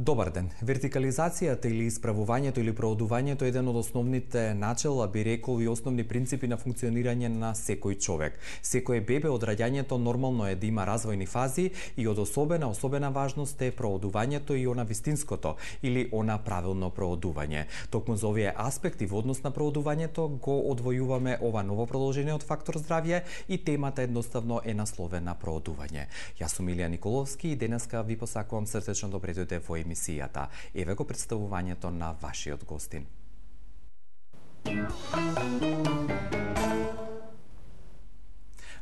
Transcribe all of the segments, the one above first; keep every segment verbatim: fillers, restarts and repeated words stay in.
Добар ден. Вертикализацијата или исправувањето или проодувањето е еден од основните начела, би рекол, и основни принципи на функционирање на секој човек. Секој бебе од раѓањето нормално е да има развојни фази и од особена особена важност е проодувањето и она вистинското или она правилно проодување. Токму за овие аспекти во однос на проодувањето го одвојуваме ова ново продолжение од Фактор здравје и темата едноставно е насловена проодување. Јас сум Илија Николовски и денеска ви посакувам срдечно добре дојде во емисијата. Еве го представувањето на вашиот гостин.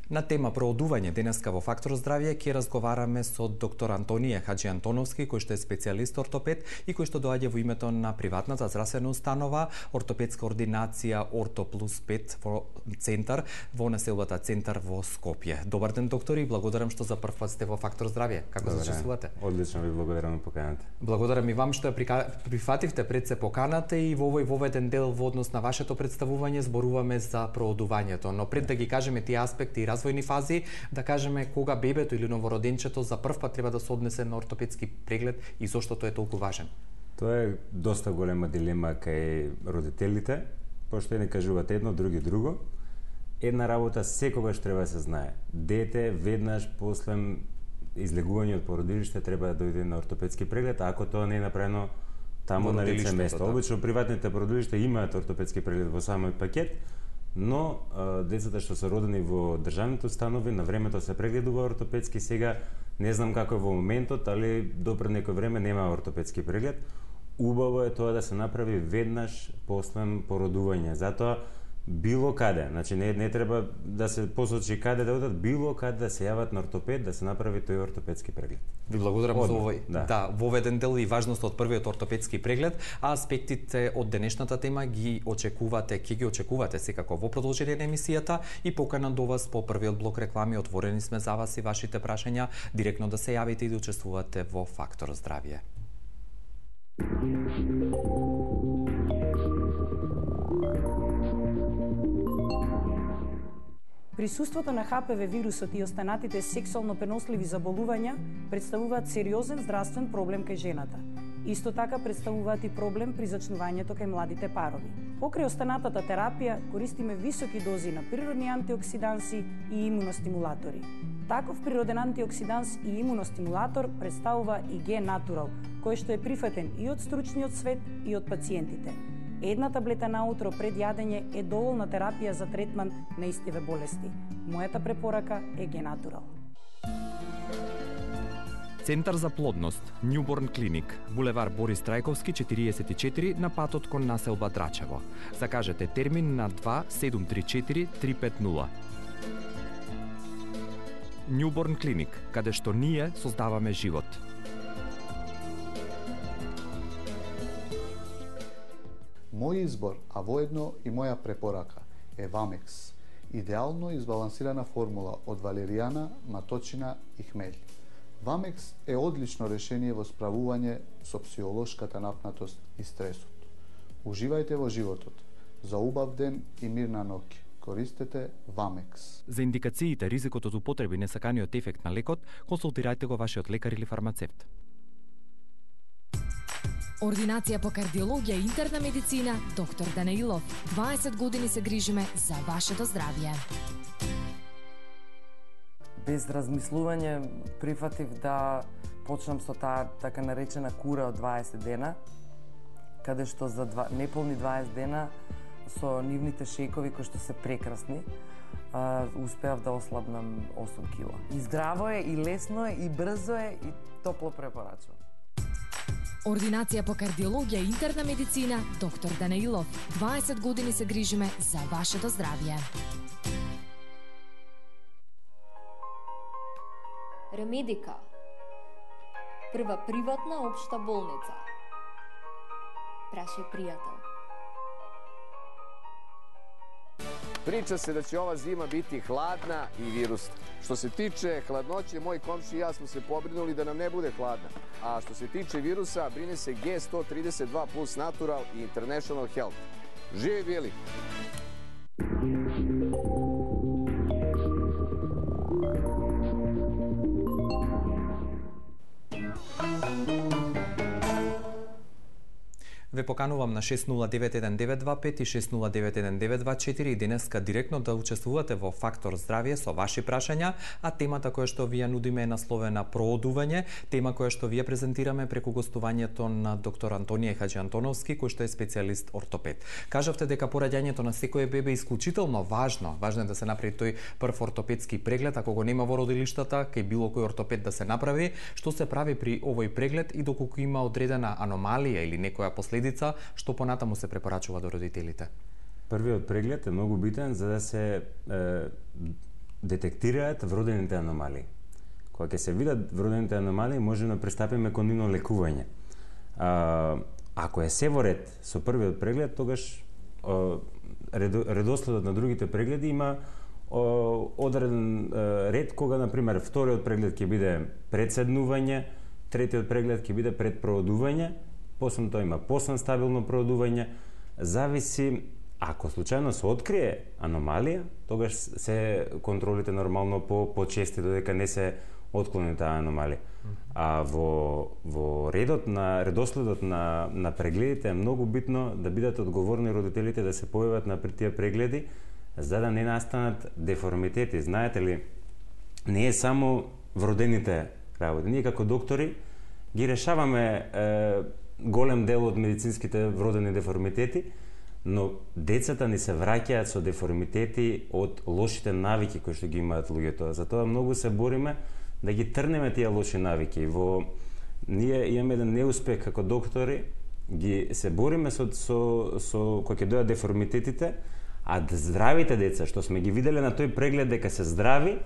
На тема проодување денеска во Фактор здравје ќе разговараме со доктор Антонија Хаџиантоновски, кој што е специјалист ортопед и кој што доаѓа во името на приватната здравствена установа Ортопедска ординација Орто плюс пет во центар во населбата Центар во Скопје. Добар ден, доктори, и благодарам што за прв пат сте во Фактор здравје. Како се чувствувате? Одлично, ви благодарам на поканата. Благодарам и вам што ја прифативте пред се поканата и во овој воведен дел во однос на вашето представување зборуваме за проодувањето, но пред да ги кажеме тие аспекти и развојни фази, да кажеме кога бебето или новороденчето за прв пат треба да се однесе на ортопедски преглед и зошто тој е толку важен? Тоа е доста голема дилема кај родителите, пошто не кажуваат едно, други друго. Една работа секогаш треба да се знае. Дете веднаш после излегување од породилиште треба да дојде на ортопедски преглед, а ако тоа не е направено таму на лице место. Обично приватните породилишта имаат ортопедски преглед во самиот пакет, но а, децата што се родени во државните установи на времето се прегледува ортопедски. Сега не знам како е во моментот, али допред некој време нема ортопедски преглед. Убаво е тоа да се направи веднаш после породување. Затоа било каде, значи не не треба да се посочи каде да одат, било каде да се јават на ортопед да се направи тој ортопедски преглед. Ви благодарам Одно, за овој да. да, воведен дел и важноста од првиот ортопедски преглед, а аспектите од денешната тема ги очекувате, ќе ги очекувате секако во продолжение на емисијата и покана до вас по првиот блок реклами. Отворени сме за вас и вашите прашања, директно да се јавите и да учествувате во Фактор здравје. Присуството на Х П В вирусот и останатите сексуално преносливи заболувања представуваат сериозен здравствен проблем кај жената. Исто така представуваат и проблем при зачнувањето кај младите парови. Покрај останатата терапија користиме високи дози на природни антиоксиданси и имуностимулатори. Таков природен антиоксиданс и имуностимулатор представува и Г Натурал, кој што е прифатен и од стручниот свет и од пациентите. Една таблета наутро пред јадење е доволна терапија за третман на истиве болести. Мојата препорака е Г Натурал. Центар за плодност, Newborn Clinic, булевар Борис Трајковски четириесет и четири на патот кон населба Драчево. Закажете термин на два седум три четири три пет нула. Newborn Clinic, каде што ние создаваме живот. Мој избор, а воедно и моја препорака е Вамекс, идеално избалансирана формула од валеријана, маточина и хмелј. Вамекс е одлично решение во справување со психолошката напнатост и стресот. Уживајте во животот. За убав ден и мирна ноќ. Користете Вамекс. За индикациите, ризикот од употреби, несаканиот ефект на лекот, консултирајте го вашиот лекар или фармацевт. Ординација по кардиологија и интерна медицина, доктор Данаилов. дваесет години се грижиме за вашето здравје. Без размислување прифатив да почнам со таа така наречена кура од дваесет дена, каде што за два, неполни дваесет дена со нивните шејкови кои што се прекрасни, а, успеав да ослабнам осум кила. И здраво е, и лесно е, и брзо е, и топло препорачувам. Ординација по кардиологија и интерна медицина, доктор Данаилов. дваесет години се грижиме за вашето здравје. Ремедика. Прва приватна општа болница. Праше пријател. Priča se da će ova zima biti hladna i virusna. Što se tiče hladnoće, moj komši i ja smo se pobrinuli da nam ne bude hladna. A što se tiče virusa, brine se G sto trideset dva plus Natural i International Health. Živi bili! Ве поканувам на шест нула девет еден девет два пет и шест нула девет еден девет два четири и денеска директно да учествувате во Фактор здравје со ваши прашања, а темата која што ви ја нудиме е насловена проодување, тема која што ви ја презентираме преку гостувањето на доктор Антонија Хаџиантоновски, кој што е специјалист ортопед. Кажавте дека пораѓањето на секое бебе е исклучително важно. Важно е да се направи тој прв ортопедски преглед, ако го нема во родилиштата, кај било кој ортопед да се направи, што се прави при овој преглед и доколку има одредена аномалија или некоја последица, што понатаму се препорачува до родителите? Првиот преглед е многу битен за да се е, детектираат вродените аномалии. Кога ќе се видат вродените аномалии, можеме да пристапиме кон нивно лекување. А, ако е се во ред со првиот преглед, тогаш а, редоследот на другите прегледи има а, одреден а, ред кога, например, вториот преглед ќе биде пред седнување, третиот преглед ќе биде пред проодување, после тоа има после стабилно проодување, зависи, ако случајно се открие аномалија, тогаш се контролите нормално по почести додека не се отклони таа аномалија. А во во редот на редоследот на на прегледите е многу битно да бидат одговорни родителите да се појават на тие прегледи за да не настанат деформитети. Знаете ли, не е само вродените работи. Ние како доктори ги решаваме е, голем дел од медицинските вродени деформитети, но децата ни се враќаат со деформитети од лошите навики кои што ги имаат луѓето. Затоа многу се бориме да ги трнеме тие лоши навики. Во ние имаме еден неуспех како доктори, ги се бориме со со со кога ќе дојдат деформитетите, а здравите деца што сме ги виделе на тој преглед дека се здрави,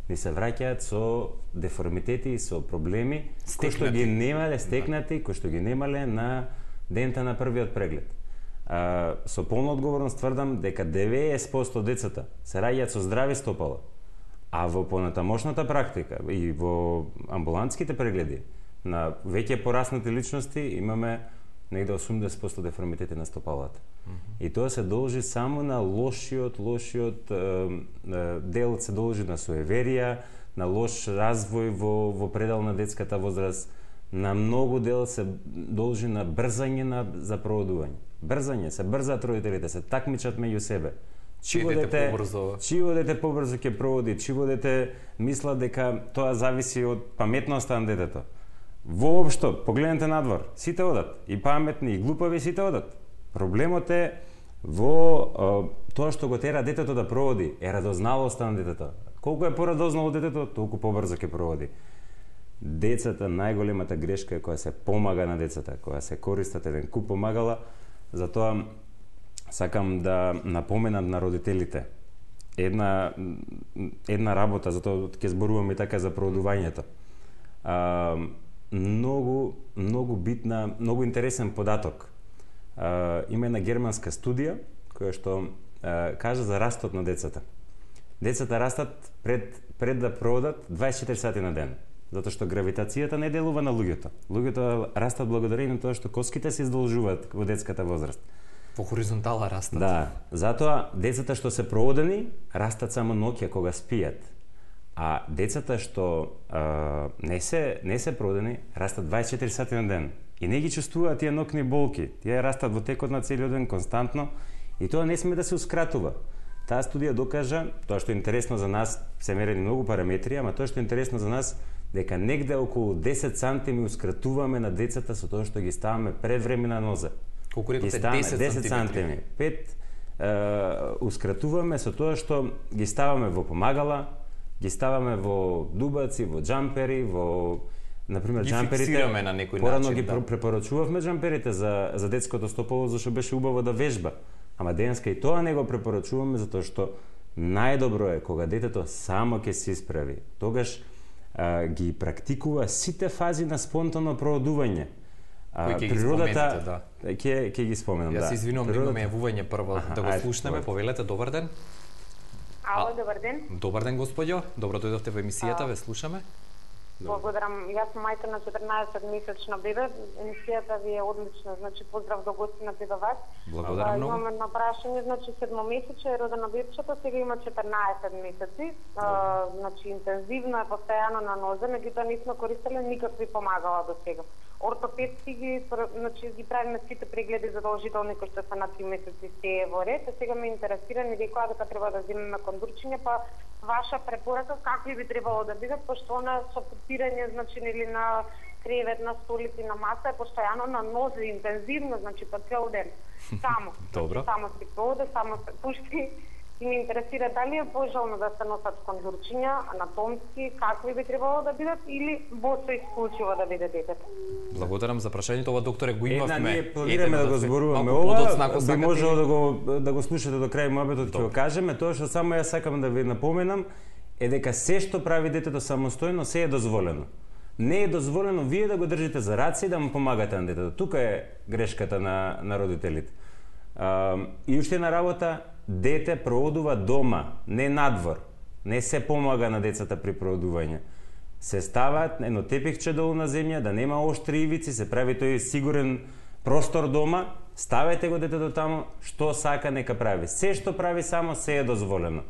ни се враќаат со деформитети и со проблеми кои што ги немале стекнати, кои што ги немале на дента на првиот преглед. А, со полна одговорност тврдам дека деветдесет проценти децата се раѓаат со здрави стопала, а во понатамошната практика и во амбулантските прегледи на веќе пораснати личности имаме негде осумдесет проценти деформитети на стопалата. Mm-hmm. И тоа се должи само на лошиот, лошиот е, е, дел се должи на суеверија, на лош развој во, во предел на детската возраст, на многу дел се должи на брзање на, за проодување. Брзање, се брзаат родителите, се такмичат меѓу себе. Чиво дете, чиво дете побрзо ќе проводи, чиво дете мисла дека тоа зависи од паметноста на детето. Воопшто, погледнете надвор, сите одат, и паметни, и глупави, сите одат. Проблемот е во е, тоа што го тера детето да проводи, е радозналоста на детето. Колку е порадознало детето, толку побрзо ќе проводи. Децата, најголемата грешка е која се помага на децата, која се користат еден куп помагала, затоа сакам да напоменам на родителите една една работа, затоа ќе зборувам и така за проодувањето. А, многу многу битна, многу интересен податок. А, има една германска студија која што а, кажа за растот на децата. Децата растат пред пред да проводат дваесет и четири сати на ден, затоа што гравитацијата не делува на луѓето. Луѓето растат благодарение на тоа што коските се издолжуваат во детската возраст. По хоризонтала растат. Да, затоа децата што се проводени растат само ноќе кога спијат. А децата што а, не се не се проводени растат дваесет и четири сати на ден и не ги чувствуваат тие нокни болки. Тие растат во текот на целиот ден константно и тоа не сме да се ускратува. Таа студија докажа, тоа што е интересно за нас, се мерени многу параметри, ама тоа што е интересно за нас дека негде околу десет сантими ускратуваме на децата со тоа што ги ставаме пред време на ноза. Колку рекоте десет сантиметри? пет е, ускратуваме со тоа што ги ставаме во помагала, ги ставаме во дубаци, во џампери, во например ги џамперите. Фиксираме на некој порано начин, ги да. препорачувавме џамперите за за детското стопало зашто беше убаво да вежба. Ама денеска и тоа не го препорачуваме затоа што најдобро е кога детето само ќе се исправи. Тогаш а, ги практикува сите фази на спонтано проодување. Кој ќе ги споменете, да. Ќе ќе ги споменам, да. Јас се извинувам, Природата... имаме јавување прво Аха, да го ајде, слушнеме. Повелете, добар ден. Ало, добар ден. Добар ден, господјо. Добро дојдовте во емисијата, ве слушаме. Благодарам. Јас сум мајка на четрнаесет месечно бебе. Емисијата ви е одлична. Значи поздрав до гостината и до вас. Благодарам многу. Имам едно прашање, значи седмомесече е родено бебчето, сега има четрнаесет месеци. А, значи интензивно е постојано на нозе, меѓутоа не сме користеле никакви помагала до сега. ортопедски ги, значи, ги правиме сите прегледи задолжителни кои што се на три месеци се во ред. Сега ме интересира, ми рекоа дека треба да земеме кондурчиња, па ваша препорака какви би требало да бидат, пошто она со потирање, значи, нели на кревет, на столици, на маса е постојано на нозе, интензивно, значи по цел ден. Само. Добро. Само се поде, само се пушти. И ме интересира дали е пожелно да се носат кондурчиња, анатомски, какви би требало да бидат или босо исклучиво да биде детето. Благодарам за прашањето, ова докторе го имавме. Една, ние планираме да го зборуваме ова, би можело да го да го слушате до крај мојабетот ќе го кажеме, тоа што само јас сакам да ви напоменам е дека се што прави детето самостојно се е дозволено. Не е дозволено вие да го држите за раце и да му помагате на детето. Тука е грешката на на родителите. А, и уште една работа, дете проодува дома, не надвор. Не се помага на децата при проодување. Се стават едно тепихче долу на земја, да нема оштри ивици, се прави тој сигурен простор дома, ставете го детето таму, што сака нека прави. Се што прави само се е дозволено.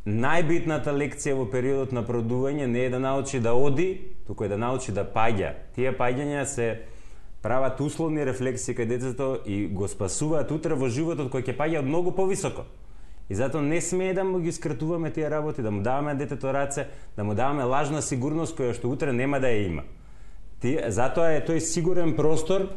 Најбитната лекција во периодот на проодување не е да научи да оди, туку е да научи да паѓа. Тие паѓања се прават условни рефлексии кај детето и го спасуваат утре во животот кој ќе паѓа од многу повисоко. И затоа не смее да му ги скратуваме тие работи, да му даваме детето раце, да му даваме лажна сигурност која што утре нема да ја има. Ти, затоа е тој сигурен простор,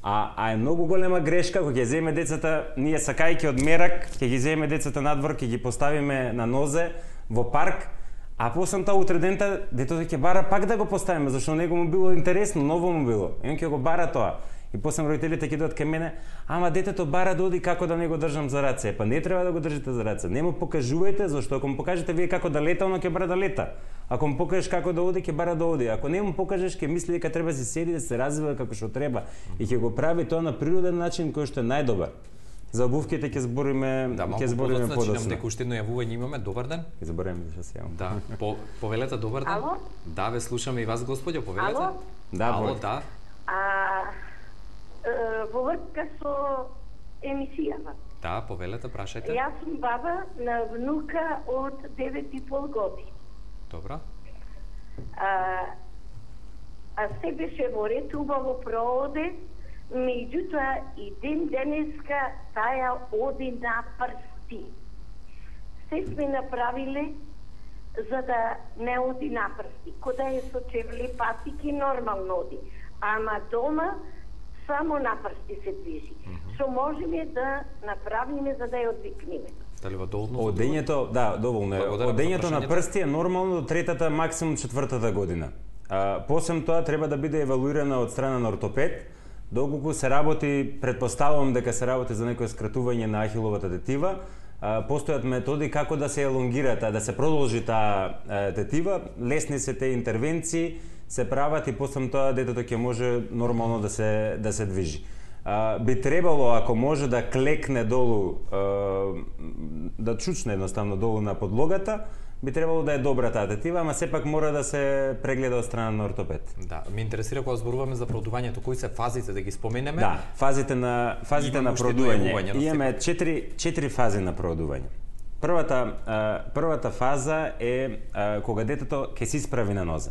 а, а е многу голема грешка кога ќе земе децата, ние сакајќи од мерак, ќе ги земе децата надвор, ќе ги поставиме на нозе во парк, а после тоа утре дента детето ќе бара пак да го поставиме, зашто него му било интересно, ново му било. И он ќе го бара тоа. И после родителите ќе дојдат кај мене, ама детето бара да оди, како да не го држам за раце. Па не треба да го држите за раце. Не му покажувајте, зашто ако му покажете вие како да лета, оно ќе бара да лета. Ако му покажеш како да оди, ќе бара да оди. Ако не му покажеш, ќе мисли дека треба да се седи, да се развива како што треба и ќе го прави тоа на природен начин кој што е најдобар. За обувките ќе збориме, да, ќе збориме подоцна. Значи, дека уште едно јавување имаме. Добар ден. Ќе забораваме да се јавам. Да, по, повелете добар ден. Ало? Да, ве слушаме и вас, господјо, повелете. Ало? Да, Ало, да. А, е, во врска со емисијава. Да, повелете, прашајте. Јас сум баба на внука од девет и пол години. Добро. А, а се беше во ред, убаво прооде, меѓутоа и ден денеска таја оди на прсти. Се сме направиле за да не оди на прсти. Кода е со чевли патики нормално оди. Ама дома само на прсти се движи. Што можеме да направиме за да ја одвикнеме? Дали во долно? Одењето, да, доволно е. Одењето на прсти е нормално до третата, максимум четвртата година. А, посем тоа треба да биде евалуирана од страна на ортопед, доколку се работи, предпоставувам дека се работи за некое скратување на ахиловата тетива, а, постојат методи како да се елонгира таа, да се продолжи таа тетива, лесни се те интервенции, се прават и после тоа детето ќе може нормално да се да се движи. А, би требало, ако може да клекне долу, а, да чучне едноставно долу на подлогата, би требало да е добра таа тетива, ама сепак мора да се прегледа од страна на ортопед. Да, ме интересира кога зборуваме за продувањето, кои се фазите да ги споменеме? Да, фазите на фазите на продување. Имаме четири четири фази на продување. Првата а, првата фаза е а, кога детето ќе се исправи на нозе.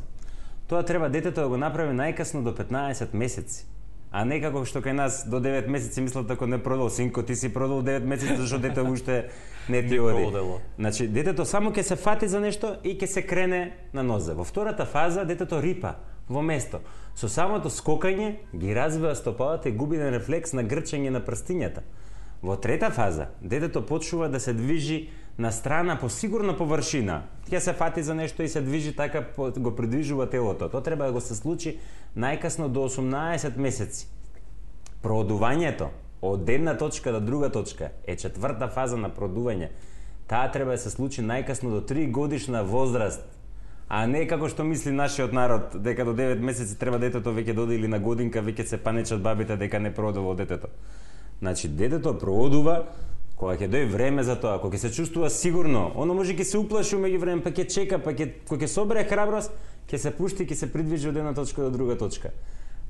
Тоа треба детето да го направи најкасно до петнаесет месеци. А не како што кај нас до девет месеци мислат ако не продал, синко ти си продал девет месеци зашто дете уште не ти оди. Значи детето само ќе се фати за нешто и ќе се крене на нозе. Во втората фаза детето рипа во место. Со самото скокање ги развива стопалата и губи на рефлекс на грчење на прстињата. Во трета фаза детето почнува да се движи на страна по сигурна површина. Ќе се фати за нешто и се движи така, го придвижува телото. Тоа треба да го се случи најкасно до осумнаесет месеци. Проодувањето од една точка до друга точка е четврта фаза на проодување. Таа треба да се случи најкасно до три годишна возраст, а не како што мисли нашиот народ, дека до девет месеци треба детето веќе доди или на годинка веќе се панечат бабите дека не проодува детето. Значи детето проодува кога ќе дојде време за тоа, кога ќе се чувствува сигурно, оно може ќе се уплаши меѓу време, па ќе чека, па ќе кога ќе собере храброст, ќе се пушти, ќе се придвижи од една точка до друга точка.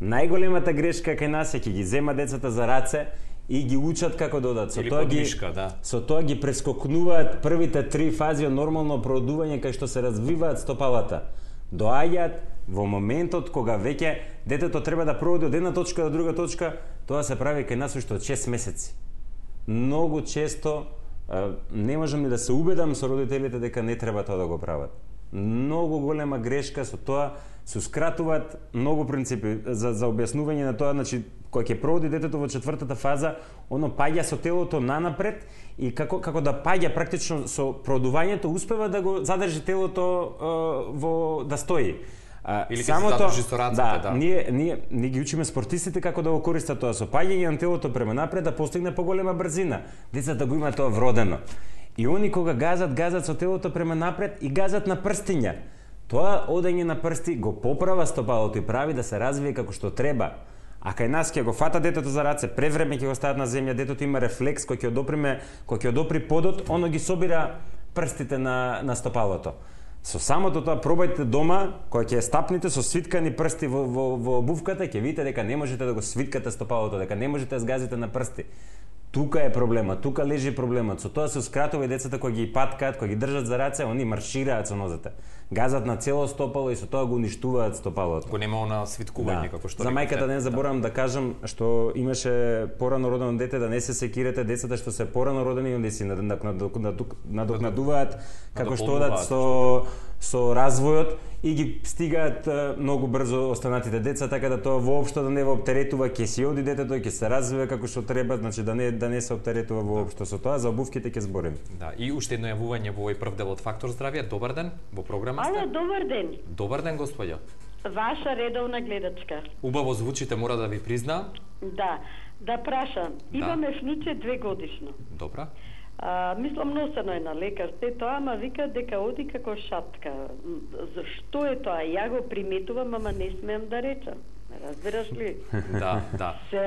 Најголемата грешка кај нас е ќе ги зема децата за раце и ги учат како да одат. Со Или тоа ги подвишка, да. Со тоа ги прескокнуваат првите три фази од нормално проодување кај што се развиваат стопалата. Доаѓаат, Во моментот кога веќе детето треба да прооди од една точка до друга точка, тоа се прави кај нас уште од шест месеци. Многу често не можам ни да се убедам со родителите дека не треба тоа да го прават. Многу голема грешка со тоа, се скратуваат многу принципи за за објаснување на тоа, значи кога ќе прооди детето во четвртата фаза, оно паѓа со телото нанапред и како како да паѓа практично со продувањето успева да го задржи телото е, во да стои. А, или само тоа со рацете, да, да. Ние ние ние ги учиме спортистите како да го користат тоа со паѓање на телото према напред да постигне поголема брзина. Децата го имаат тоа вродено. И они кога газат, газат со телото према напред и газат на прстиња. Тоа одење на прсти го поправа стопалото и прави да се развие како што треба. А кај нас ќе го фата детето за раце, превреме ќе го стават на земја, детето има рефлекс кој ќе одоприме, кој ќе одопри подот, оно ги собира прстите на на стопалото. Со самото тоа пробајте дома, кога ќе стапните со свиткани прсти во во во обувката, ќе видите дека не можете да го свиткате стопалото, дека не можете да згазите на прсти. Тука е проблемот, тука лежи проблемот. Со тоа се скратува и децата кои ги паткаат, кои ги држат за раце, они маршираат со нозете. Газат на цело стопало и со тоа го уништуваат стопалото. Го нема она свиткување, да. како што за мајката не заборавам да. да кажам што имаше порано родено дете, да не се секирате децата што се порано родени, онде си надокнадуваат како што одат со со развојот и ги стигаат многу брзо останатите деца, така да тоа воопшто да не во оптеретува, ќе си оди детето, ќе се развива како што треба, значи да не да не се оптеретува воопшто со тоа. За обувките ќе збориме. Да, и уште едно јавување во овој прв дел од Фактор здравје. Добар ден, во програма сте. Ало, добар ден. Добар ден, господја. Ваша редовна гледачка. Убаво звучите, мора да ви признаам. Да, да прашам. Да. Имаме внуче две годишно. Добра. А, мислам носено е на лекар, се тоа, ама вика дека оди како шатка. Зашто е тоа? Ја го приметувам, ама не смеам да речам. Разбираш ли? Да, да. Се,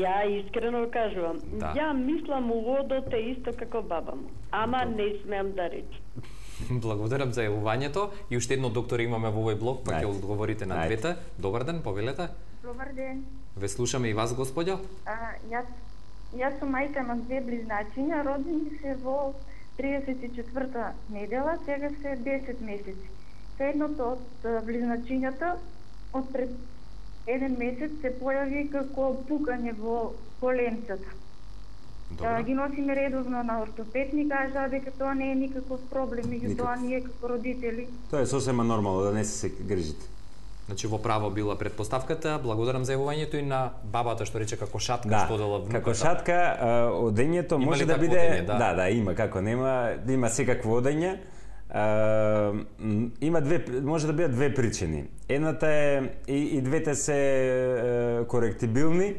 ја искрено кажувам. Да. Ја мислам уводот е исто како баба му, ама не смеам да речам. Благодарам за јавувањето и уште едно доктор имаме во овој блок, па ќе одговорите на двете. Добар ден, повелете. Добар ден. Ве слушаме и вас, господјо. А, јас Јас сум мајка на две близначиња, родени се во триесет и четврта недела, сега се десет месеци. Едното од близначињата од пред еден месец се појави како пукање во коленцата. Да, ги носиме редовно на ортопед, ни кажа дека тоа не е никаков проблем, меѓутоа ние како родители. Тоа е сосема нормално, да не се грижите. Значи во право била предпоставката. Благодарам за јавувањето и на бабата што рече како шатка, да, што дела внуката. Како шатка, одењето има може да биде одење, да. да, да, има како нема, има секакво одење. А, има две, може да бидат две причини. Едната е и, и двете се е, коректибилни.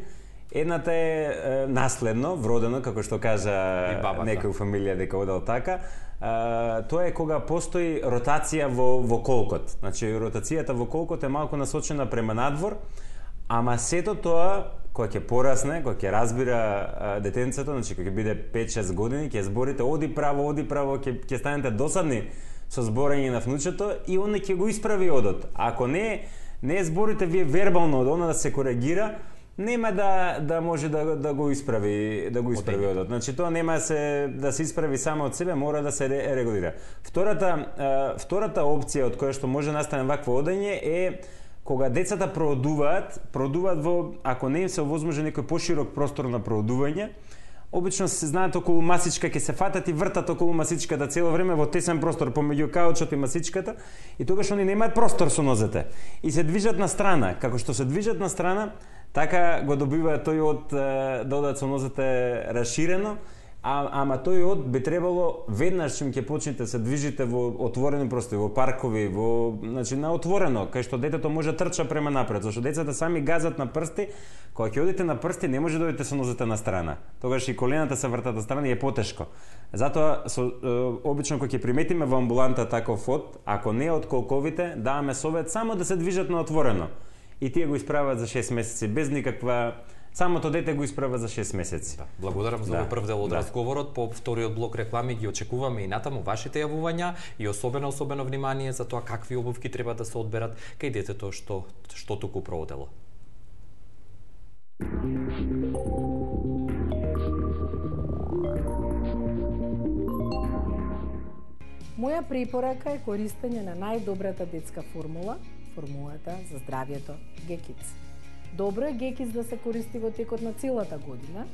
Едната е, е наследно, вродено, како што кажа некој у фамилија дека одел така. А, тоа е кога постои ротација во, во колкот. Значи, ротацијата во колкот е малку насочена према надвор, ама сето тоа, кога ќе порасне, кога ќе разбира а, детенцето, значи кога ќе биде пет-шест години, ќе зборите оди право, оди право, ќе, ќе станете досадни со зборење на внучето и он ќе го исправи одот. Ако не, не зборите вие вербално од она да се коригира, нема да да може да да го исправи, да го исправи одот. Значи тоа нема се да се исправи само од себе, мора да се регулира. Втората а, втората опција од која што може настане вакво одење е кога децата проодуваат, проодуваат во, ако не им се овозможи некој поширок простор на проодување, обично се знаат околу масичка, ќе се фатат и вртат околу масичката цело време во тесен простор помеѓу каучот и масичката и тогаш они немаат простор со нозете и се движат на страна. Како што се движат на страна, така го добиваат тој од да одат со нозете расширено, а, ама тој од би требало веднаш чим ќе почнете се движите во отворени простори, во паркови, во, значи на отворено, кај што детето може трча према напред, зашто децата сами газат на прсти, кога ќе одите на прсти не може да одите со нозете на страна. Тогаш и колената се вртат на страна и е потешко. Затоа со, е, обично кога ќе приметиме во амбуланта таков од, ако не од колковите, даваме совет само да се движат на отворено. И тие го исправат за шест месеци без никаква, самото дете го исправа за шест месеци. Да, благодарам за овој да, прв дел од да. разговорот. По вториот блок реклами ги очекуваме и натаму вашите јавувања и особено особено внимание за тоа какви обувки треба да се одберат кај детето што што туку проодело. Моја препорака е користење на најдобрата детска формула формулата за здравието Г-Kids. Добро е Г-Kids да се користи во текот на целата година,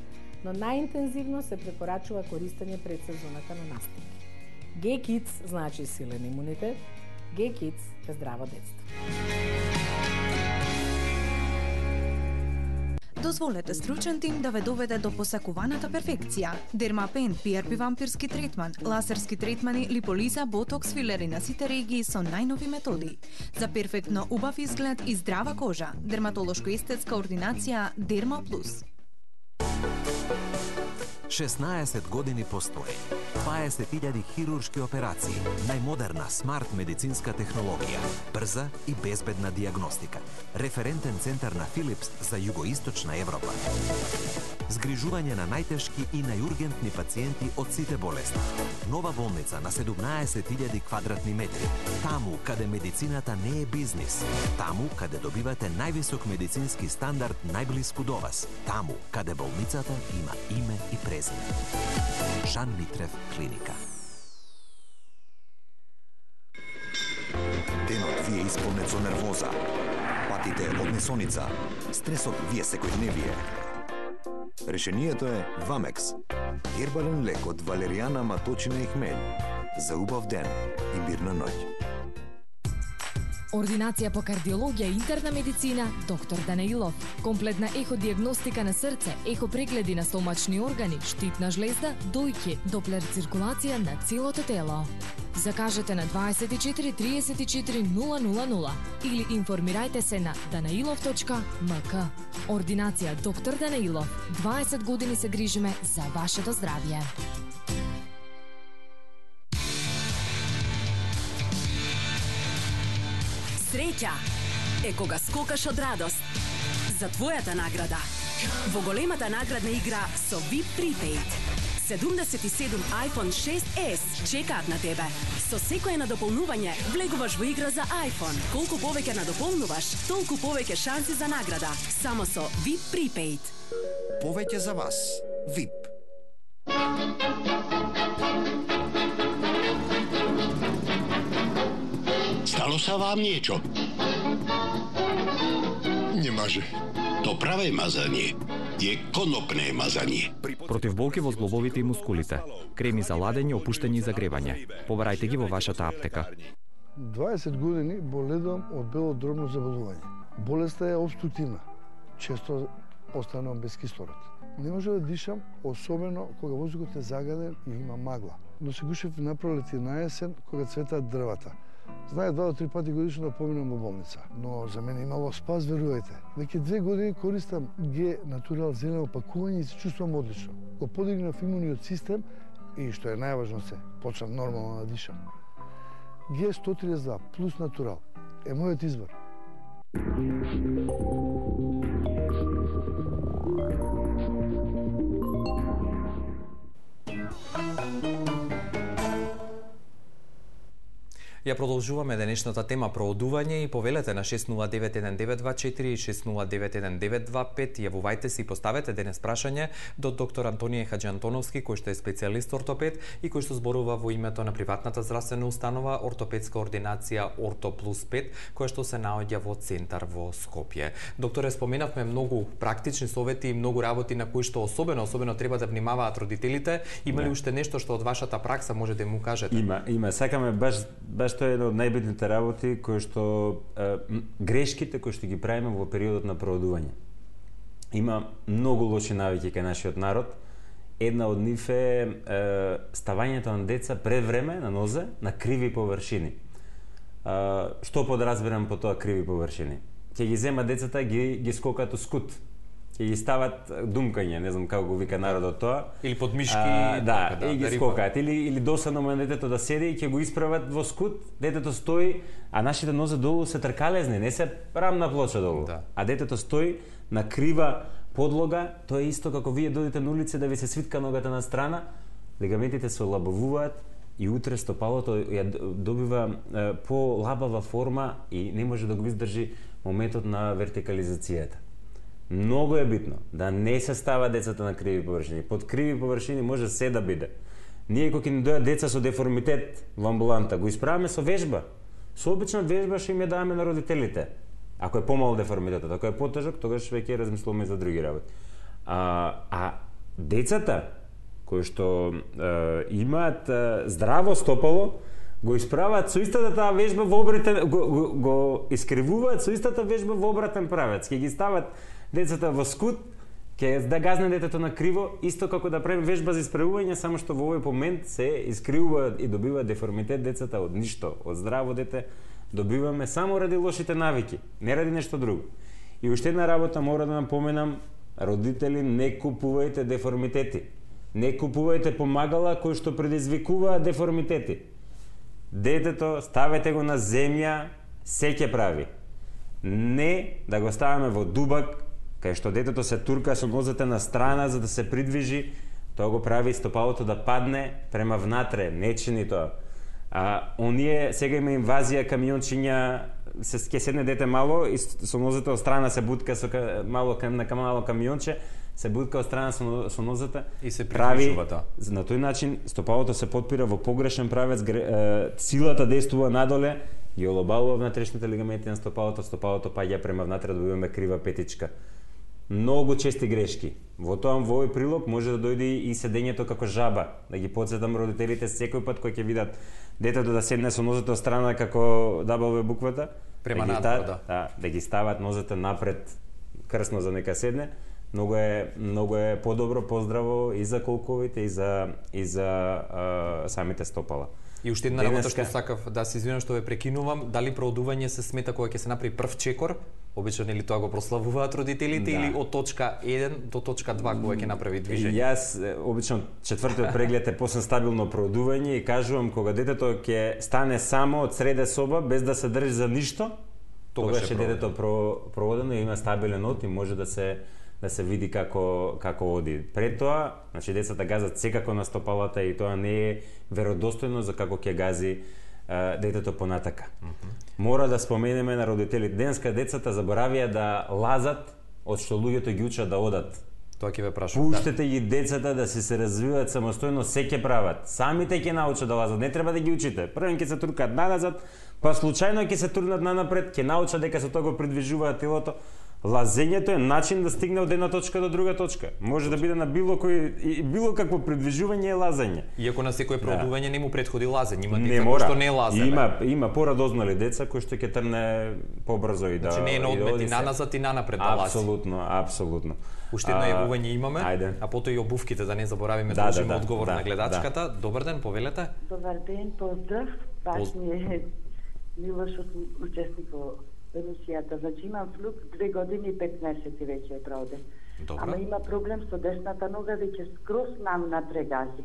но најинтензивно се препорачува користење пред сезоната на настики. Г-Kids значи силен имунитет, Г-Kids е здраво детство. Дозволете стручен тим да ве доведе до посакуваната перфекција. Дермапен, пи ар пи вампирски третман, лазерски третмани, липолиза, ботокс, филери на сите регии со најнови методи. За перфектно убав изглед и здрава кожа, дерматолошко-естетска ординација Дерма Плюс. шеснаесет години постои. дваесет илјади хируршки операции, најмодерна смарт медицинска технологија, брза и безбедна диагностика. Референтен центар на Филипс за југоисточна Европа. Згрижување на најтешки и најургентни пациенти од сите болести. Нова болница на седумнаесет илјади квадратни метри. Таму каде медицината не е бизнис. Таму каде добивате највисок медицински стандард најблиску до вас. Таму каде болницата има име и презиме. Жан Митрев клиника. Денот ви е исполнет со нервоза. Патите од несоница. Стресот ви е секојдневие. Решението е Вамекс. Гербален лек од валеријана, маточина и хмелј. За убав ден и мирна ноќ. Ординација по кардиологија и интерна медицина доктор Данаилов. Комплетна еходиагностика на срце, ехопрегледи на стомачни органи, штитна жлезда, дојки, доплер циркулација на целото тело. Закажете на дваесет и четири триесет и четири нула нула нула или информирајте се на данаилов точка ем ка. Ординација доктор Данаилов. дваесет години се грижиме за вашето здравје. Среќа е кога скокаш од радост за твојата награда. Во големата наградна игра со ви ай пи Prepaid. седумдесет и седум iPhone шест ес чекаат на тебе. Со секое надополнување влегуваш во игра за iPhone. Колку повеќе надополнуваш, толку повеќе шанси за награда. Само со ви ай пи Prepaid. Повеќе за вас. ви ай пи. Stalo sa vám niečo? Немаже. То праве мазање е конопне мазање. Против болки во зглобовите и мускулите. Креми за ладење, опуштање и загревање. Побарајте ги во вашата аптека. дваесет години боледувам од бело дробно заболување. Болеста е обструктивна. Често останувам без кислород. Не може да дишам, особено кога воздухот е загаден и има магла. Но се гушев на пролет и на есен кога цветаат дрвата. Знае два до три пати годишно да поминам во болница, но за мене имало спас, верувајте. Веќе две години користам Г Натурал зелено опакување и се чувствувам одлично. Го подигнав имуниот систем и што е најважно се, почнав нормално да дишам. Г сто триесет и два плюс Натурал е мојот избор. Ја продолжуваме денешната тема проодување и повелете на шест нула девет еден девет два четири и шест нула девет еден девет два пет. Јавувајте се и поставете денес прашање до доктор Антонија Хаџиантоновски, кој што е специјалист ортопед и кој што зборува во името на приватната здравствена установа ортопедска ординација Орто Плюс пет, која што се наоѓа во центар во Скопје. Докторе, споменавме многу практични совети и многу работи на кои што особено особено треба да внимаваат родителите. Има ли Да. уште нешто што од вашата пракса може да му кажете? Има, има. Сакаме баш баш тоа е една од најбитните работи кои што е, грешките кои што ги правиме во периодот на проодување. Има многу лоши навики кај нашиот народ. Една од нив е, е ставањето на деца пред време на нозе на криви површини. А, што подразбирам по тоа криви површини? Ќе ги зема децата, ги ги скокат у скут. Ќе ги стават думкање, не знам како го вика народот тоа. Или под мишки, а, да, така, да, и ги да скокаат. Или или досадно му е детето да седи и ќе го исправат во скут, детето стои, а нашите нозе долу се тркалезни, не се рамна плоча долу. Да. А детето стои на крива подлога, тоа е исто како вие додите на улица да ви се свитка ногата на страна, лигаментите се олабавуваат и утре стопалото ја добива е, по-лабава форма и не може да го издржи моментот на вертикализацијата. Многу е битно да не се става децата на криви површини. Под криви површини може се да биде. Ние кога ни дојат деца со деформитет во амбуланта, го исправаме со вежба. Со обична вежба што им ја даваме на родителите. Ако е помал деформитетот, ако е потежок, тогаш веќе размислуваме за други работи. А, а децата кои што е, имаат е, здраво стопало, го исправаат со истата таа вежба во обратен, го, го, го искривуваат со истата вежба во обратен правец. Ќе ги стават децата во скут, ќе да газне детето на криво, исто како да правим вежба за исправување, само што во овој момент се искривува и добива деформитет децата од ништо, од здраво дете добиваме само ради лошите навики, не ради нешто друго. И уште една работа мора да напоменам, родители, не купувајте деформитети. Не купувајте помагала кои што предизвикуваат деформитети. Детето ставете го на земја, се ќе прави. Не да го ставаме во дубак, кај што детето се турка со нозете на страна за да се придвижи, тоа го прави стопалото да падне према внатре, не чини тоа. А оние сега има инвазија камиончиња, се ќе седне дете мало и со нозете од страна се бутка со мало кам на мало камионче, се бутка од страна со, со нозете и се прави тоа. На тој начин стопалото се потпира во погрешен правец, гре, силата действува надоле, ги олобалува внатрешните лигаменти на стопалото, стопалото паѓа према внатре, добиваме крива петичка. Многу чести грешки. Во тоа во овој прилог може да дојде и седењето како жаба, да ги потсетам родителите секој пат кој ќе видат детето да седне со нозете од страна како W буквата, према да надвор, да. Да, да ги стават нозете напред, крсно за нека седне. Многу е многу е подобро, поздраво и за колковите и за и за а, самите стопала. И уште една работа што сакав да се извинам што ве прекинувам, дали проодување се смета кога ќе се направи прв чекор? Обично нели тоа го прославуваат родителите, да, или од точка еден до точка два кога ќе направи движење? Јас обично четвртиот преглед е после стабилно проодување и кажувам кога детето ќе стане само од среде соба без да се држи за ништо, тогаш е детето про, проводено и има стабилен од и може да се да се види како како оди. Пред тоа, значи децата газат секако на стопалата и тоа не е веродостојно за како ќе гази а, детето понатака. Mm -hmm. Мора да споменеме на родителите. Денеска децата заборавија да лазат од што луѓето ги учат да одат. Тоа ќе ве прашувам. Пуштете да. ги децата да се се развиваат самостојно, се ќе прават. Самите ќе научат да лазат, не треба да ги учите. Прво ќе се туркаат наназад, па случајно ќе се турнат нанапред, ќе научат дека со тоа го придвижуваат телото. Лазењето е начин да стигне од една точка до друга точка. Може да биде на било кој и било какво придвижување е лазење. Иако на секое проодување да. не му претходи лазење, има деца кои што не лаземе. Има има порадознали деца кои што ќе трне побрзо и да. Значи не е на одмет и наназад и нанапред да лази. Апсолутно, апсолутно. Уште едно јавување имаме, ајде. А потоа и обувките, да не заборавиме да, должиме да, да, одговор да, на гледачката. Да. Добар ден, повелете. Добар ден, поздрав. Баш ми е мило што сум учесник во емисијата. Значи имам флук две години и пет месеци веќе е проде. Добро. Ама има проблем со десната нога, веќе скроз нам натре гази.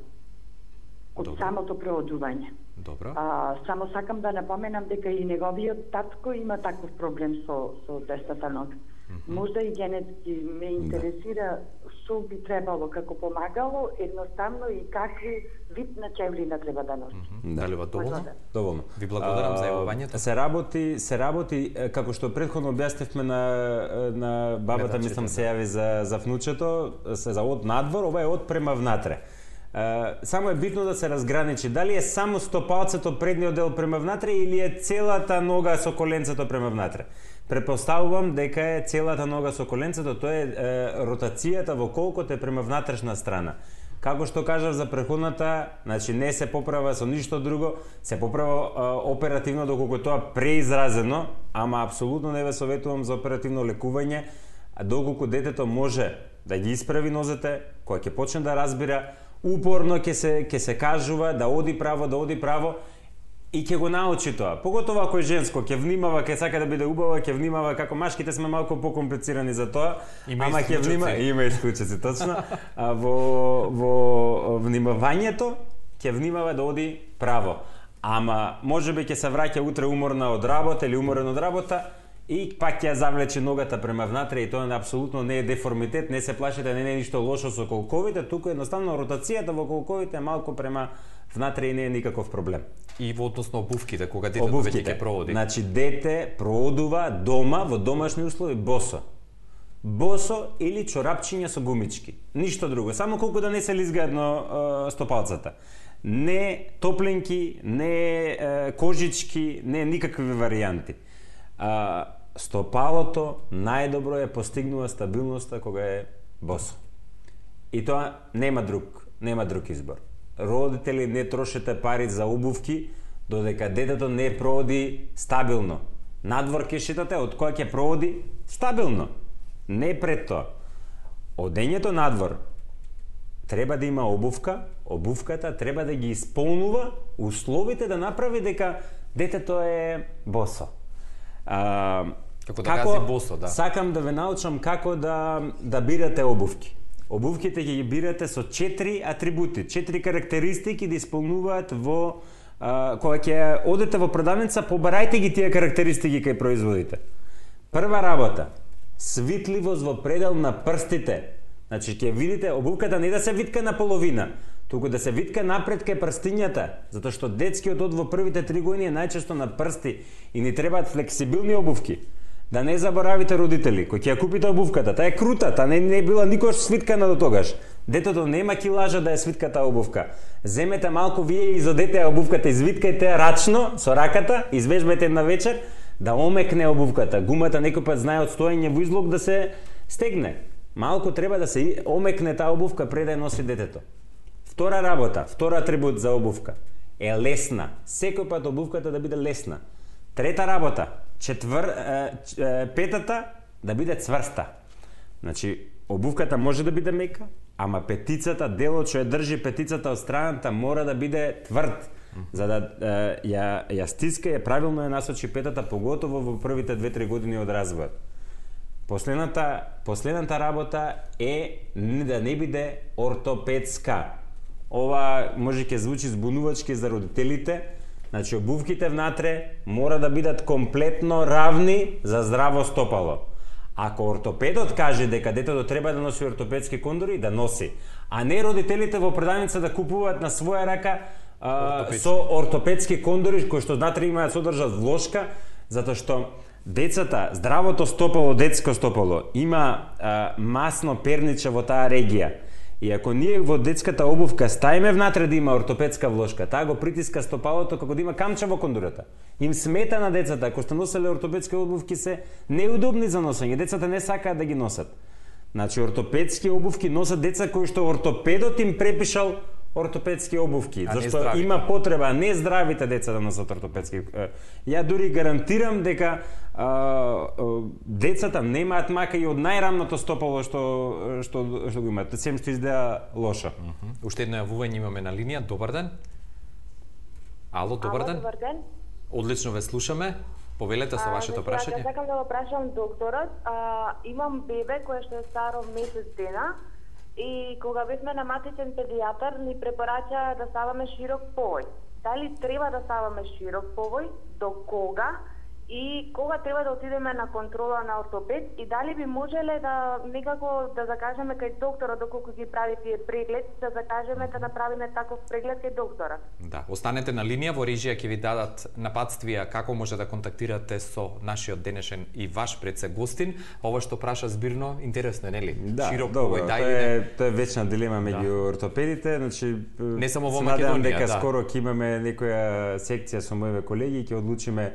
Од Добро. самото проодување. Добро. А, само сакам да напоменам дека и неговиот татко има таков проблем со, со десната нога. Mm -hmm. Можда и генетски ме интересира што би требало како помагало, едноставно и какви вид на чевлина треба да носи. Mm -hmm. Дали ва доволно? Доволно. Ви благодарам за јавувањето. Се работи, се работи како што претходно објаснивме на на бабата, мислам се јави за за внучето, се за од надвор, ова е од према внатре. Uh, само е битно да се разграничи дали е само стопалцето предниот дел према внатре или е целата нога со коленцето према внатре. Претпоставувам дека е целата нога со коленцето, тоа е, е ротацијата во колкото е према внатрешна страна. Како што кажав за преходната, значи не се поправа со ништо друго, се поправа е, оперативно доколку тоа преизразено, ама апсолутно не ве советувам за оперативно лекување, а доколку детето може да ги исправи нозете, која ќе почне да разбира, упорно ќе се ќе се кажува да оди право, да оди право и ќе го научи тоа. Поготово ако е женско, ќе внимава, ќе сака да биде убава, ќе внимава, како машките сме малку покомплицирани за тоа, има ама ќе внимава, има исклучици точно. А во во внимавањето ќе внимава да оди право. Ама можеби ќе се враќа утре уморна од работа или уморен од работа и пак ќе ја завлече ногата према внатре и тоа апсолутно не е деформитет, не се плашите, не е ништо лошо со колковите, туку едноставно ротацијата во колковите е малку према внатре и не е никаков проблем. И во односно обувките, кога детето веќе ќе проводи. Значи дете проодува дома во домашни услови босо. Босо или чорапчиња со гумички. Ништо друго, само колку да не се лизгаат на стопалцата. не топленки, не е, кожички, не никакви варијанти. А, стопалото најдобро е постигнува стабилноста кога е босо. И тоа нема друг, нема друг избор. Родители, не трошете пари за обувки додека детето не проводи стабилно. Надвор ќе шетате, од која ќе проводи стабилно. Не пред тоа. Одењето надвор треба да има обувка, обувката треба да ги исполнува условите да направи дека детето е босо. А, како да како, кази босо, да. Сакам да ве научам како да да бирате обувки. Обувките ќе ги бирате со четири атрибути, четири карактеристики да исполнуваат во а, кога ќе одете во продавница, побарајте ги тие карактеристики кај производите. Прва работа, свитливост во предел на прстите. Значи ќе видите обувката не да се витка на половина, туку да се витка напред кај прстињата, затоа што детскиот од во првите три години е најчесто на прсти и ни требаат флексибилни обувки. Да не заборавите родители, кои ќе ја купите обувката, таа е крута, таа не, не била никош свиткана до тогаш. Детето нема килажа да ја свитка таа обувка. Земете малку вие и изодете обувката, извиткајте рачно со раката, извежбајте на вечер да омекне обувката. Гумата некој пат знае од стоење во излог да се стегне. Малку треба да се омекне таа обувка пред да ја носи детето. Втора работа, втора атрибут за обувка е лесна. Секој пат обувката да биде лесна. Трета работа, четвр, е, е, петата да биде цврста. Значи, обувката може да биде мека, ама петицата, делот што ја држи петицата од страната мора да биде тврд, за да е, ја, ја стиска и правилно ја насочи петата, поготово во првите две-три години од развојот. Последната, последната работа е да не биде ортопедска. Ова може ќе звучи збунувачки за родителите. Значи, обувките внатре мора да бидат комплетно равни за здраво стопало. Ако ортопедот каже дека детето треба да носи ортопедски кондори, да носи. А не родителите во продавница да купуваат на своја рака а, со ортопедски кондори, кои што внатре имаат содржат влошка, затоа што децата, здравото стопало, детско стопало, има а, масно перниче во таа регија. И ако ние во детската обувка ставиме внатре да има ортопедска влошка, таа го притиска стопалото како да има камче во кондурата. Им смета на децата, ако сте носели ортопедски обувки се неудобни за носење, децата не сакаат да ги носат. Значи ортопедски обувки носат деца кои што ортопедот им препишал ортопедски обувки, зашто има потреба не здравите деца да носат ортопедски. Ја дури гарантирам дека а, а, децата немаат мака и од најрамното стопало што што што го имаат, сем што изгледа лошо. Uh -huh. Уште едно јавување имаме на линија. Добар ден. Ало, добар Ало, ден. добар ден. Одлично ве слушаме. Повелете со вашето прашање. Ја сакам да го прашам докторот. А, имам бебе кое што е старо месец дена. И кога бевме на матичен педијатар, ни препорача да ставаме широк повој. Дали треба да ставаме широк повој, до кога и кога треба да отидеме на контрола на ортопед и дали би можеле да некако да закажеме кај докторот доколку ги прави тие преглед, да закажеме да направиме таков преглед кај докторот. Да, останете на линија, во режија ќе ви дадат напатствија како може да контактирате со нашиот денешен и ваш предсегостин. Ова што праша збирно интересно е, нели? Да, широк добро, повој, тоа е, тоа е вечна дилема меѓу да. ортопедите, значи не само во Македонија, дека да. скоро ќе имаме некоја секција со моите колеги и ќе одлучиме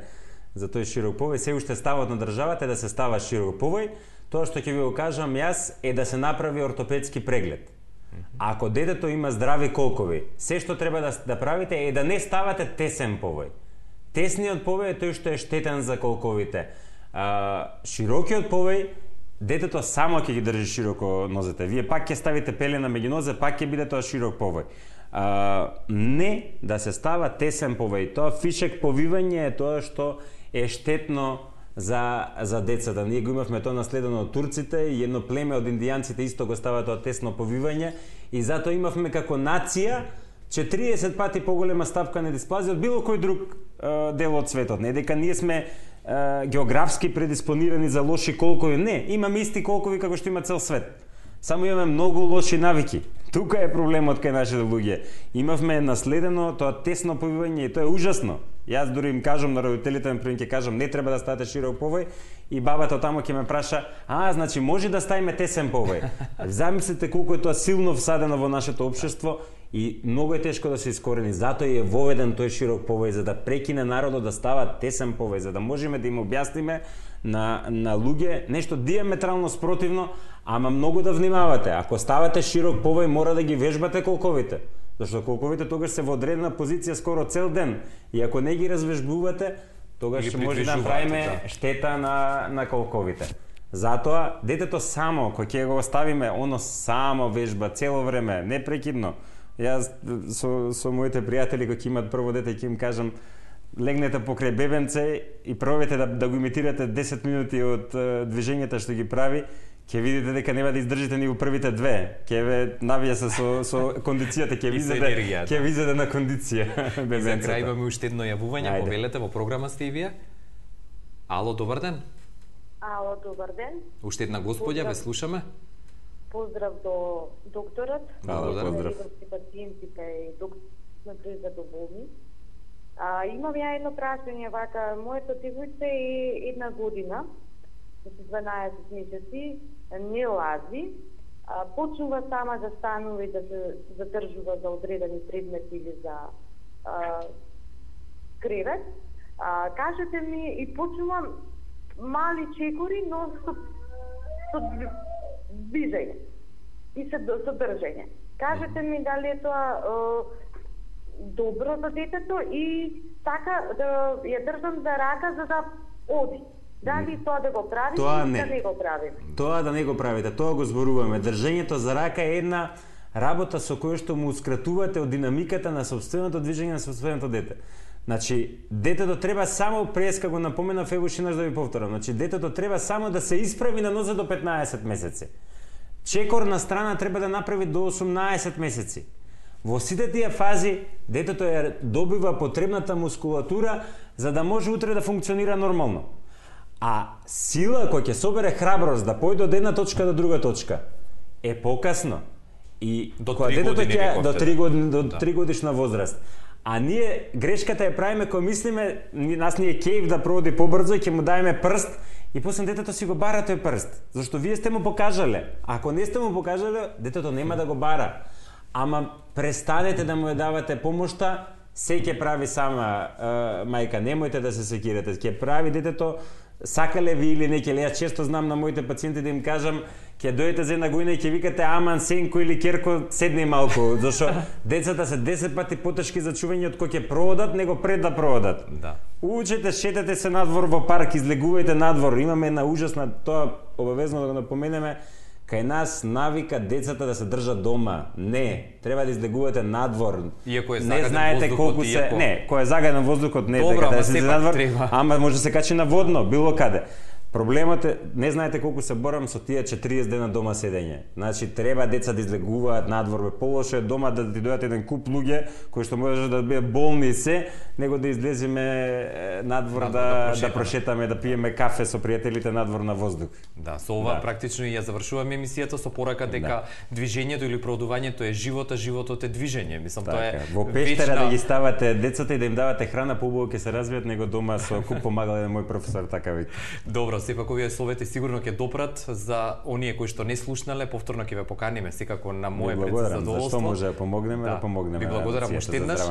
за тој широк повој. Се уште ставот на државата е да се става широк повој. Тоа што ќе ви го кажам јас е да се направи ортопедски преглед. Ако детето има здрави колкови, се што треба да, да правите е да не ставате тесен повој. Тесниот повој е тој што е штетен за колковите. А, широкиот повој, детето само ќе ги држи широко нозете. Вие пак ќе ставите пелена меѓу нозе, пак ќе биде тоа широк повој. А, не да се става тесен повој. Тоа фишек повивање е тоа што е штетно за, за децата. Ние го имавме тоа наследено од турците и едно племе од индијанците исто го става тоа тесно повивање и затоа имавме како нација четириесет пати поголема ставка на дисплазија од било кој друг е, дел од светот. Не дека ние сме е, географски предиспонирани за лоши колкови. Не, имаме исти колкови како што има цел свет. Само имаме многу лоши навики. Тука е проблемот кај нашите луѓе. Имавме наследено тоа тесно повивање и тоа е ужасно. Јас дури им кажам на родителите, например, ќе кажам не треба да ставате широк повој и бабата таму ќе ме праша: "А, значи може да ставиме тесен повој?" Замислете колку е тоа силно всадено во нашето општество И многу е тешко да се искорени, затоа е воведен тој широк повој за да прекине народот да става тесен повој, за да можеме да им објасниме на на луѓе нешто диаметрално спротивно, ама многу да внимавате. Ако ставате широк повој, мора да ги вежбате колковите. Зашто колковите тогаш се во одредена позиција скоро цел ден. И ако не ги развежбувате, тогаш ќе може да направиме да. штета на на колковите. Затоа детето само кој ќе го оставиме, оно само вежба цело време, непрекидно. Јас со со моите пријатели кои имаат прво дете ќе им кажам, легнете покрај бебенце и пробете да да го имитирате десет минути од движењата што ги прави, ќе видите дека нема да издржите ни во првите две. Ќе ве навија се со со кондицијата, ќе видите, ќе видите на кондиција бебенцето. И за крај имаме уште едно јавување, повелете во програма сте и вие. Ало, добар ден. Ало, добар ден. Уште една господја, ве слушаме. Поздрав до докторот. Ало, поздрав. И пациентите и доктор сме презадоволни. А, имам ја едно прашање, вака, моето девојце е една година, дванаесет месеци, не лази, а, почнува сама да станува и да се задржува за одредени предмети или за а, кревет. А, кажете ми, и почнувам мали чекори, но со, со движење и со, со држење. Кажете ми дали е тоа е, добро за детето и така да ја држам за рака за да оди. Дали тоа да го прави тоа или не. да не го правиме? Тоа да не го правите, тоа го зборуваме. Држењето за рака е една работа со која што муускратувате од динамиката на собственото движење на собственото дете. Значи, детето треба само, преска го напоменав, ево шинаш да ви повторам, значи, детето треба само да се исправи на нозе до петнаесет месеци. Чекор на страна треба да направи до осумнаесет месеци. Во сите тие фази, детето ја добива потребната мускулатура за да може утре да функционира нормално. А сила која ќе собере храброст да појде од една точка до друга точка е покасно. И до кога детето ќе до три години, до да. три годишна возраст. А ние грешката ја правиме кога мислиме, нас ни е кејф да проводи побрзо и ќе му даеме прст и после детето си го бара тој прст. Зашто вие сте му покажале. Ако не сте му покажале, детето нема да го бара. Ама престанете да му ја давате помошта, се ќе прави сама е, мајка, немојте да се секирате. Ќе прави детето, сакале ви или не, ќе јас често знам на моите пациенти да им кажам, ќе дојдете за една година и ќе викате аман Сенко или Керко, седни малку, зашто децата се десет пати потешки за чување од кој ќе проводат, него пред да проводат. Да. Учете, шетете се надвор во парк, излегувајте надвор. Имаме една ужасна, тоа обавезно да го напоменеме, кај нас навика децата да се држат дома. Не, треба да излегувате надвор. Иако е не знаете колку се, иако... не, кој е загаден воздухот не Добра, дека да се надвор, треба. Ама може да се качи на водно, било каде. Проблемот е, не знаете колку се борам со тие четириесет дена дома седење. Значи треба деца да излегуваат надвор, бе полошо е дома да ти дојдат еден куп луѓе кои што може да бидат болни и се, него да излеземе надвор, надвор да, да, прошетаме. да прошетаме, да пиеме кафе со пријателите надвор на воздух. Да, со ова да. практично и ја завршуваме емисијата со порака дека да. движењето или продувањето е живот, а животот е движење. Мислам така, тоа е во пештера вечна... да ги ставате децата и да им давате храна, поубаво ќе се развијат него дома со куп помагал еден мој професор така вика. Добро, сепак овие словете сигурно ќе допрат за оние кои што не слушнале, повторно ќе ве поканиме секако на мое предзадоволство. Зашто може да помогнеме, да, да помогнеме. Ви благодарам уште еднаш.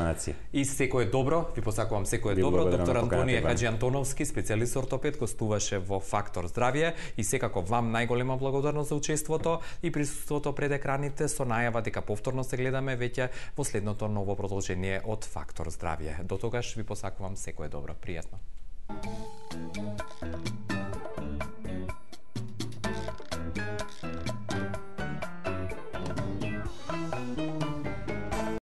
И секое добро, ви посакувам секое ви добро. Доктор Антонија поканата, Хаџи Антоновски, специјалист ортопед, гостуваше во Фактор здравје и секако вам најголема благодарност за учеството и присуството пред екраните со најава дека повторно се гледаме веќе во следното ново продолжение од Фактор здравје. До тогаш ви посакувам секое добро, пријатно.